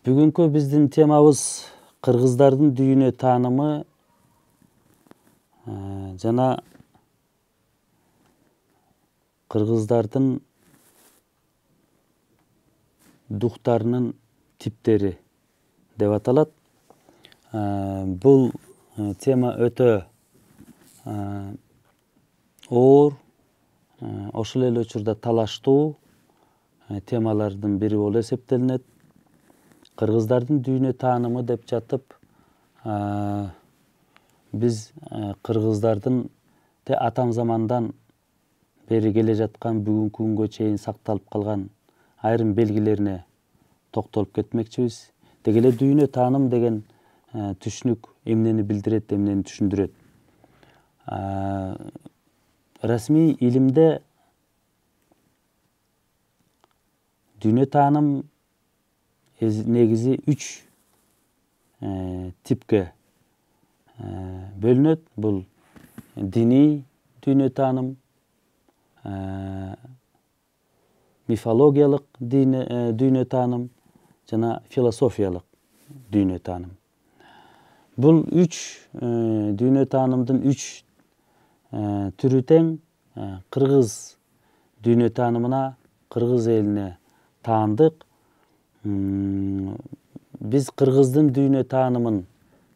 Бүгүнкү биздин темабыз кыргыздардын дүйнө таанымы жана кыргыздардын духтарынын типтери деп аталат. Бул тема өтө оор, ошол эле учурда талаштуу темалардын бири болуп эсептелинет. Кыргыздардын дүйнө таанымы деп жатып, биз кыргыздардын атам замандан бери келе жаткан бүгүнкү күнгө чейин сакталып калган айрым белгилерине токтолуп кетмекчибиз. Деги эле дүйнө тааным деген түшүнүк эмнени билдирет, эмнени түшүндүрөт? Расмий илимде дүйнө тааным негизи 3 типке бөлүнөт. Бул диний дүйнө тааным, мифологиялык дүйнө тааным жана философиялык дүйнө тааным. Бул 3 дүйнө таанымдын 3 түрү тең. Кыргыз дүйнө таанымына, кыргыз элине таандык. Биз кыргыздын дүйнө таанымын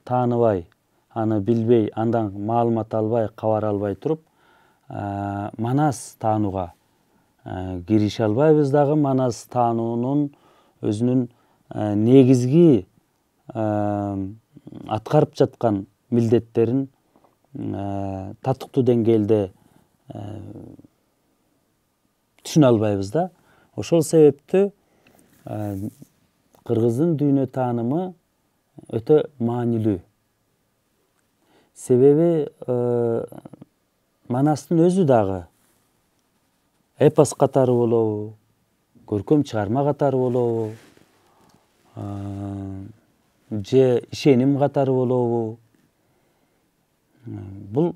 тааныбай, аны билбей, андан маалымат албай, кабар албай туруп, манас таанууга кирише албайбыз дагы. Манас таануунун өзүнүн негизги аткарып жаткан милдеттерин татыктуу деңгээлде түшүнө албайбыз да. Ошол себептүү кыргыздын дүйнө таанымы өтө маанилүү. Себеби манастын өзү дагы эпос катары болобу, көркөм чыгарма катары болобу, же ишеним катары болобу, бул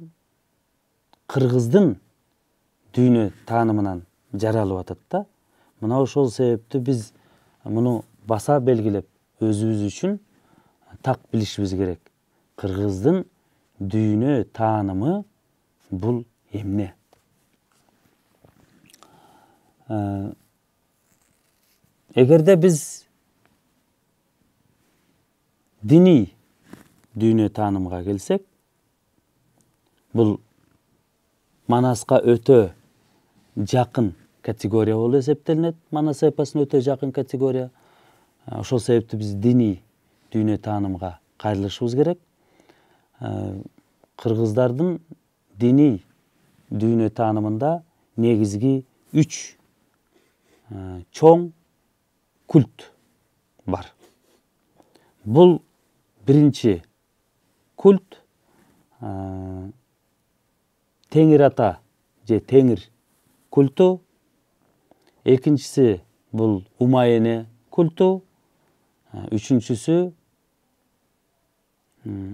кыргыздын дүйнө таанымынан жаралып атат да. Мына ошол себептүү биз муну баса белгилеп, өзүбүз үчүн так билишибиз керек. Кыргыздын дүйнө таанымы бул эмне? Эгерде биз диний дүйнө таанымга келсек, бул манаска өтө жакын категория болуп эсептелинет. Манас эпосуна өтө жакын категория. Ошол себептүү биз диний дүйнө таанымга кайрылышыбыз керек. Кыргыздардын диний дүйнө таанымында негизги 3 чоң культ бар. Бул биринчи культ Теңир ата же Теңир культу. Экинчиси бул Умаене культу. Үчүнчүсү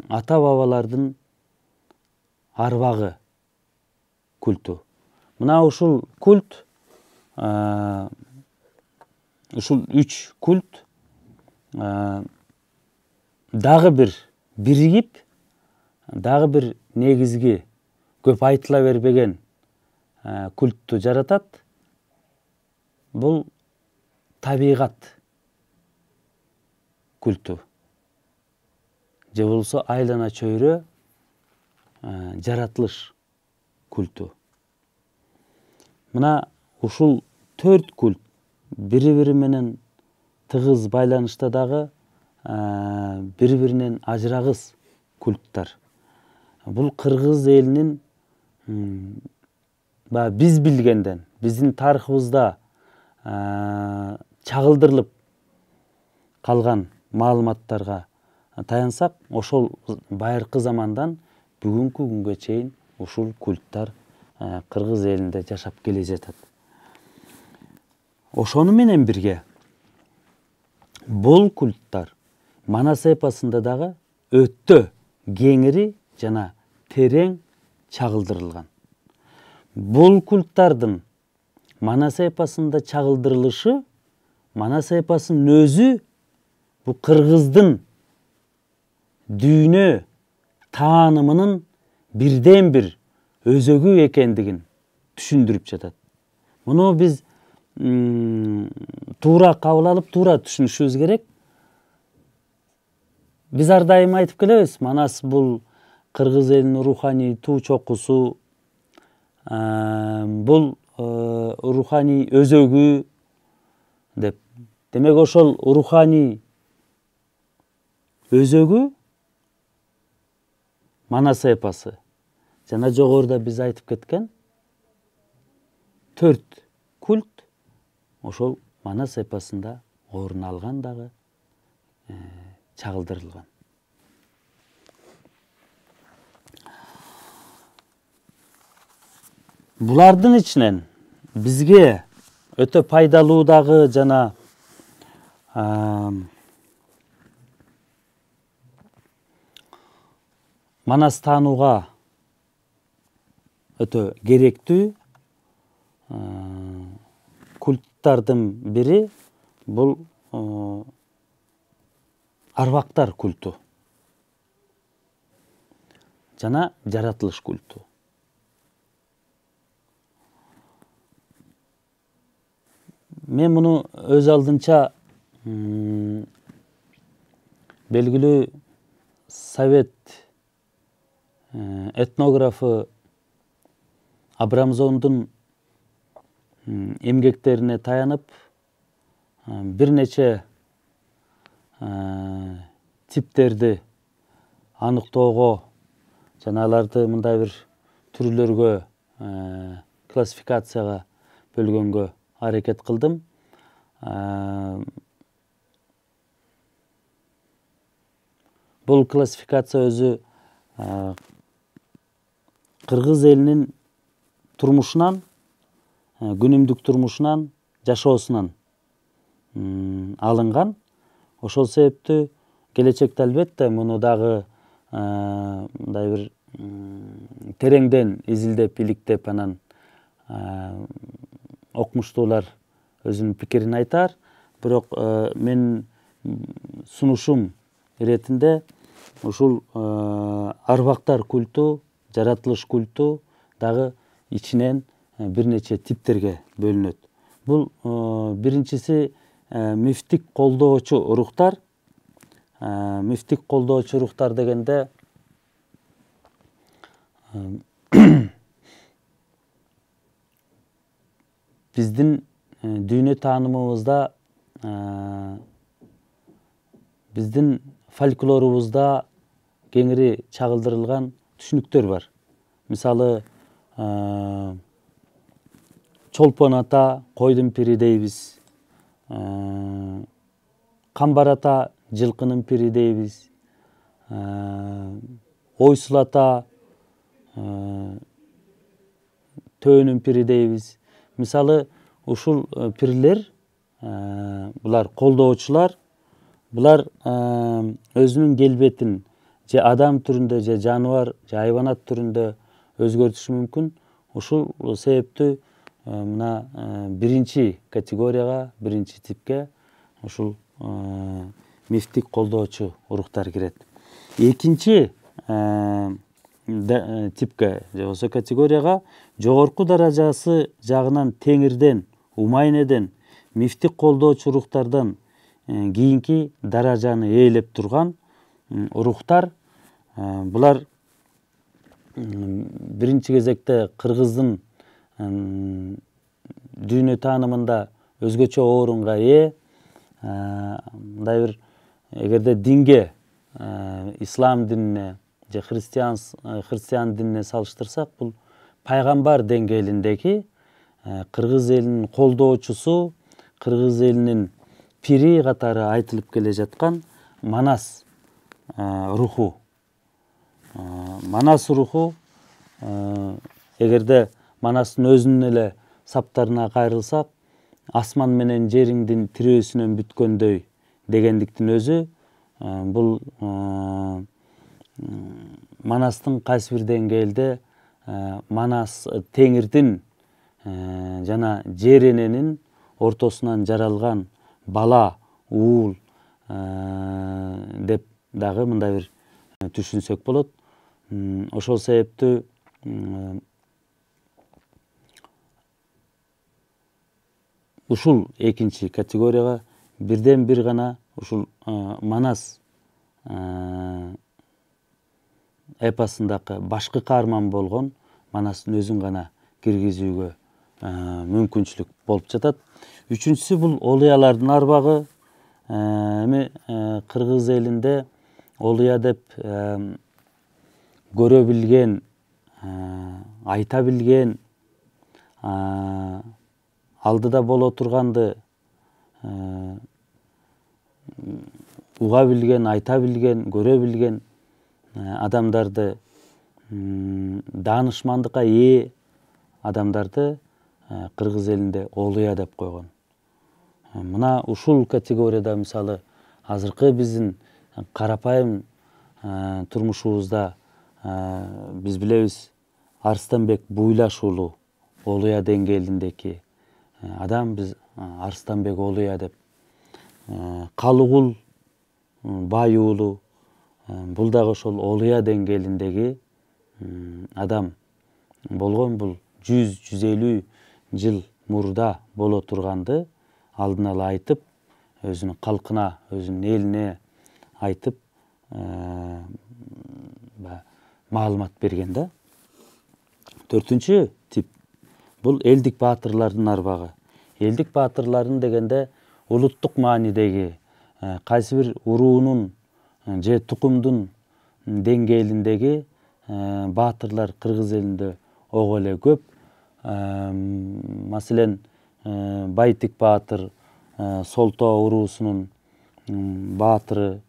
ата бабалардын арбагы культу. Мына ушул культ, ушул 3 культ дагы бир биригип, дагы бир негизги көп айтыла бербеген культту жаратат. Бул табигат культу. Же болбосо айлана чөйрө жаратылыш культу. Мына ушул 4 культ бири-бири менен тыгыз байланышта дагы бири-биринен ажырагыс культтар. Бул кыргыз элинин биз билгенден, биздин тарыхыбызда чагылдырылып калган маалыматтарга таянсак, ошол байыркы замандан бүгүнкү күнгө чейин ушул культтар кыргыз элинде жашап келе жатат. Ошону менен бирге бул культтар Манас эпосунда дагы өтө кеңири жана терең чагылдырылган. Бул культтардын Манас эпосунда чагылдырылышы Манас эпосунун өзү бул кыргыздын дүйнө таанымынын бирден бир өзөгү экендигин түшүндүрүп жатат. Муну биз туура кабыл алып, туура түшүнүшүбүз керек. Биз ар дайым айтып келебиз, Манас бул кыргыз элинин руханий туу чокусу, бул руханий өзөгү деп. Демек ошол руханий өзөгү Манас эпосы. Жана жогоруда биз айтып кеткен 4 культ ошол Манас эпосунда орун алган дагы, чагылдырылган. Булардын ичинен бизге өтө пайдалуу дагы жана Манас таанууга өтө керектүү культтардын бири бул арбактар культу жана жаратылыш культу. Мен муну өз алдынча белгилүү совет этнографы Абрамзондун эмгектерине таянып, бир нече типтерди аныктоого жана аларды мындай бир түрлөргө, классификацияга бөлгөнгө аракет кылдым. Бул классификация өзү кыргыз элинин турмушунан, күнүмдүк турмушунан, жашоосунан алынган. Ошол себептүү келечекте албетте муну дагы мындай бир тереңден изилдеп, иликтеп, анан окумуштуулар өзүнүн пикирин айтар. Бирок мен сунушум иретинде ушул арбактар культу, жаратылыш культу дагы ичинен бир нече типтерге бөлүнөт. Бул биринчиси мифтик колдоочу рухтар. Мифтик колдоочу рухтар дегенде биздин дүйнө таанымыбызда, биздин фольклорубузда кеңири чагылдырылган түшүнүктөр бар. Мисалы, чолпон ата койдун пири дейбиз, камбар ата жылкынын пири дейбиз, ойсул ата төөнүн пири дейбиз. Мисалы, ушул пирлер, булар колдоочулар, булар өзүнүн келбетин же адам түрүндө, же жаныбар, же хайванат түрүндө өзгөртүшү мүмкүн. Ушул себептүү мына биринчи категорияга, биринчи типке ушул мифтик колдоочу рухтар кирет. Экинчи типке же болбосо категорияга жогорку даражасы жагынан Теңирден, Умайнеден, мифтик колдоочу рухтардан кийинки даражаны ээлеп турган рухтар. Булар биринчи кезекте кыргыздын дүйнө таанымында өзгөчө орунга ээ. Мындай бир эгерде динге, ислам динине же христиан динине салыштырсак, бул пайгамбар деңгээлиндеги кыргыз элинин колдоочусу, кыргыз элинин пири катары айтылып келе жаткан Манас руху. Манас руху эгерде Манастын өзүнүн эле саптарына кайрылсак, асман менен жериңдин тирөөсүнөн бүткөндөй дегендиктин өзү бул Манастын кайсы бир деңгээлде Манас Теңирдин жана жер эненин ортосунан жаралган бала, уул деп дагы мындай бир түшүнсөк болот. Ошол себептүү ушул экинчи категорияга бирден бир гана ушул Манас эпосундагы башкы каарман болгон Манастын өзүн гана киргизүүгө мүмкүнчүлүк болуп жатат. Үчүнчүсү бул Олуялардын арбагы. Эми кыргыз элинде Олуя деп көрө билген, айта билген, алдыда боло турганды уга билген, айта билген, көрө билген адамдарды, даанышмандыкка ээ адамдарды кыргыз элинде Олуя деп койгон. Мына ушул категорияда мисалы азыркы биздин карапайым турмушубузда биз билебиз, Арыстанбек Буйлаш уулу Олуя деңгээлиндеги адам, биз Арыстанбек Олуя деп. Калыгул Бай уулу, бул дагы ошол Олуя деңгээлиндеги адам болгон. Бул 100-150 жыл мурда боло турганды алдын ала айтып, өзүнүн калкына, өзүнүн элине айтып маалымат берген да. Төртүнчү тип бул элдик баатырлардын арбагы. Элдик баатырларын дегенде улуттук маанидеги кайсы бир уруунун же тукумдун деңгээлиндеги баатырлар кыргыз элинде ого эле көп. Маселен, Байтик баатыр Солтоо уруусунун баатыры,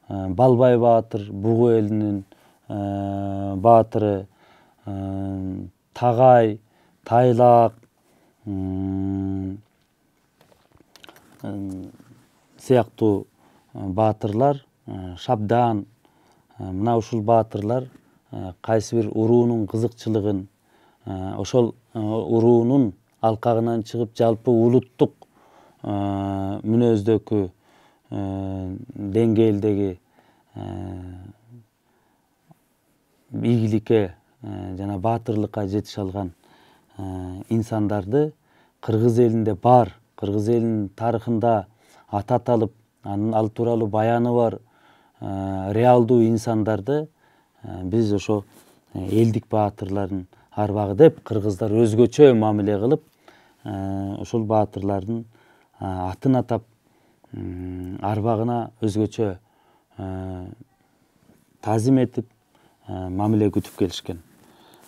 Балбай баатыр Бугу элинин баатыры, Тагай, Тайлак сыяктуу баатырлар, Шабдан, мына ушул баатырлар кайсы бир уруунун кызыкчылыгын, ошол уруунун алкагынан чыгып жалпы улуттук мүнөздөгү деңгээлдеги ийгиликке жана баатырлыкка жетише алган инсандарды кыргыз элинде бар, кыргыз элинин тарыхында аты аталып, ал тууралуу баяны бар реалдуу инсандарды биз ошо элдик баатырлардын арбагы деп кыргыздар өзгөчө мамиле кылып, ошол баатырлардын атын атап, арбагына өзгөчө тазим этип, мамиле күтүп келишкен.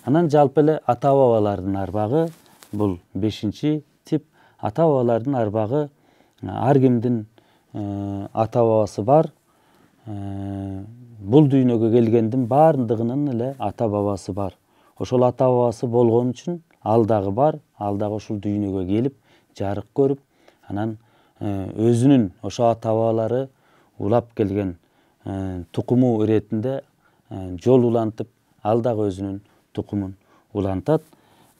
Анан жалпы эле ата бабалардын арбагы бул 5-чи тип. Ата бабалардын арбагы ар кимдин ата бабасы бар. Бул дүйнөгө келгендин баардыгынын эле ата бабасы бар. Ошол ата бабасы болгон үчүн ал дагы бар, ал дагы ушул дүйнөгө келип, жарык көрүп, анан өзүнүн ошо ата бабалары улап келген тукуму иретинде жол улантып, ал дагы өзүнүн тукумун улантат.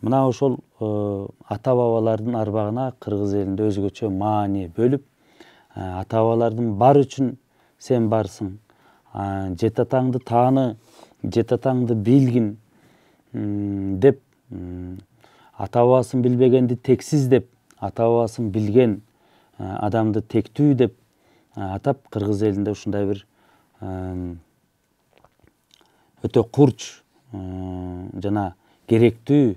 Мына ошол ата бабалардын арбагына кыргыз элинде өзгөчө маани бөлүп, ата бабалардын бар үчүн сен барсың, жет атаңды тааны, жет атаңды билгин деп, ата бабасын билбегенди тексиз деп, ата бабасын билген адамды тектүү деп атап, кыргыз элинде ушундай бир өтө курч жана керектүү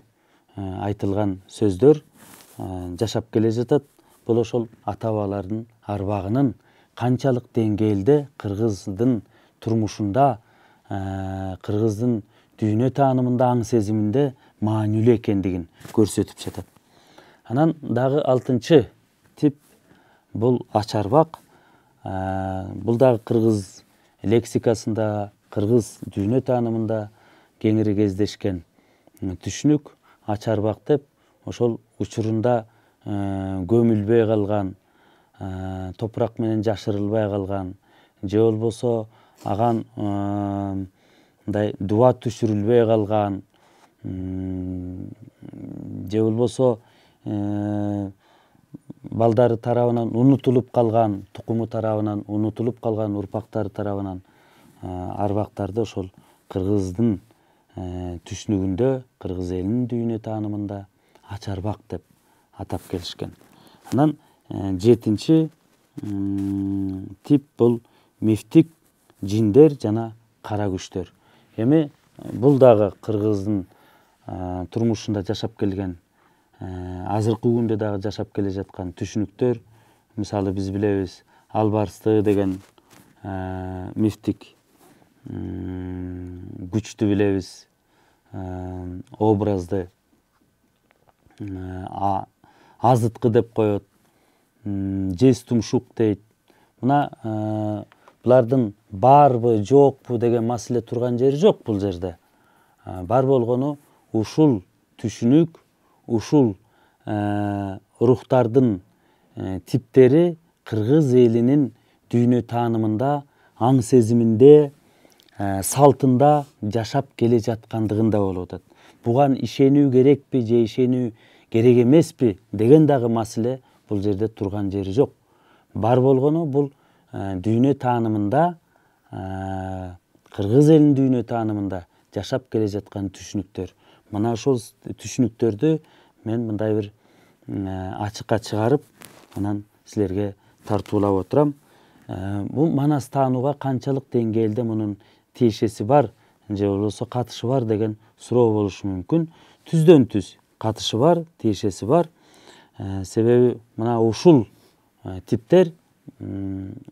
айтылган сөздөр жашап келе жатат. Бул ошол ата бабалардын арбагынын канчалык деңгээлде кыргыздын турмушунда, кыргыздын дүйнө таанымында, аң сезиминде маанилүү экендигин көрсөтүп жатат. Анан дагы 6-чы тип бул ачарбак. Бул дагы кыргыз лексикасында, кыргыз дүйнө таанымында кеңири кездешкен түшүнүк. Ачарбак деп ошол учурунда көмүлбөй калган, топурак менен жашырылбай калган, же болбосо аган мындай дуба түшүрүлбөй калган, же болбосо балдары тарабынан унутулуп калган, тукуму тарабынан унутулуп калган, урпактары тарабынан арбактарды ошол кыргыздын түшүнүгүндө, кыргыз элинин дүйнө таанымында ач арбак деп атап келишкен. Анан 7-чи тип бул мифтик жиндер жана кара күчтөр. Эми бул дагы кыргыздын турмушунда жашап келген, азыркы күндө дагы жашап келе жаткан түшүнүктөр. Мисалы биз билебиз, Албарсты деген мифтик күчтү билебиз, образды азыткы деп коет, жез тумшук дейт. Мына булардын барбы, жокпу деген маселе турган жери жок бул жерде. Бар болгону ушул түшүнүк, ушул рухтардын типтери кыргыз элинин дүйнө таанымында, аң сезиминде, салтында жашап келе жаткандыгында болуп атат. Буган ишенүү керекпи же ишенүү керек эмеспи деген дагы маселе бул жерде турган жери жок. Бар болгону бул дүйнө таанымында, кыргыз элинин дүйнө таанымында жашап келе жаткан түшүнүктөр. Мына ошол түшүнүктөрдү мен мындай бир ачыкка чыгарып, анан силерге тартуулап отурам. Бул манас таанууга канчалык деңгээлде мунун тиешеси бар же болбосо катышы бар деген суроо болушу мүмкүн. Түздөн түз катышы бар, тиешеси бар. Себеби мына ушул типтер,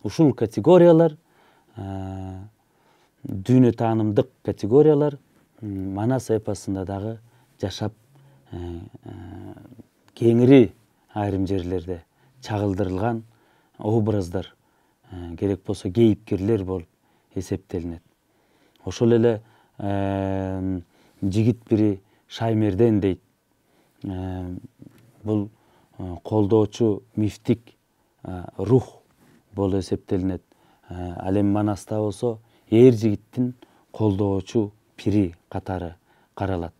ушул категориялар, дүйнө таанымдык категориялар манас эпосунда дагы жашап кеңири айрым жерлерде чагылдырылган образдар, керек болсо кейипкерлер болуп эсептелинет. Ошол эле жигит бири Шаймерден дейт, бул колдоочу мифтик рух болуп эсептелинет. Ал эми манаста болсо эр жигиттин колдоочу пири катары каралат.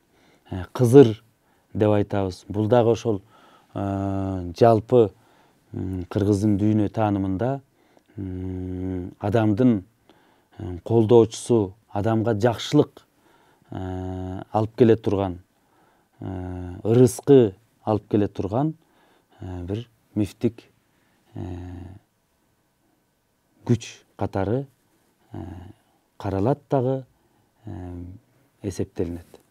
Кызыр деп айтабыз. Бул дагы ошол жалпы кыргыздын дүйнө таанымында адамдын колдоочусу, адамга жакшылык алып келе турган, ырыскы алып келе турган бир мифтик күч катары каралат дагы, эсептелинет.